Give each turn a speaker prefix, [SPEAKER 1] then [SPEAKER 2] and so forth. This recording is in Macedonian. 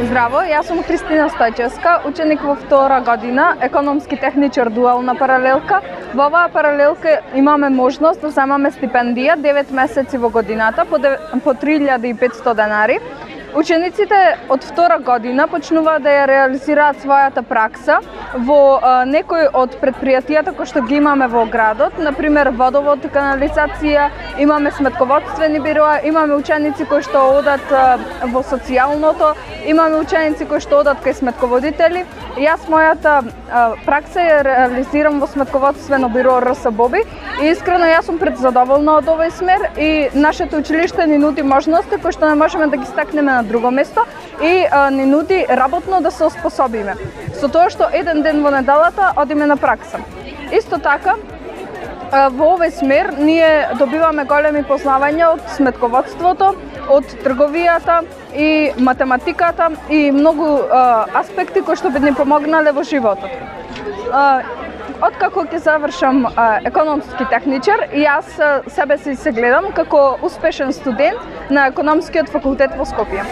[SPEAKER 1] Здраво, јас сум Христина Стојчевска, ученик во втора година, економски техничар дуална паралелка. Во оваа паралелка имаме можност да земаме стипендија 9 месеци во годината по 3500 денари. Учениците од втора година почнуваат да ја реализираат својата пракса во некои од предпријатијата кои што ги имаме во градот, например водовод, канализација, имаме сметководствени бироа, имаме ученици кои што одат во социјалното, имаме ученици кои што одат кај сметководители. Јас мојата пракса ја реализирам во сметководствено биро РС Боби и искрено јас сум предзадоволна од овој смер и нашето училиште ни нуди можности кои што не можеме да ги стакнеме на друго место и ни нуди работно да се оспособиме. Со тоа што еден ден во неделата одиме на пракса. Исто така, во овој смер ние добиваме големи познавања од сметководството, од трговијата и математиката и многу аспекти кои што би ни помогнале во животот. Откако ќе завршам економски техничар, јас себе си се гледам како успешен студент на економскиот факултет во Скопје.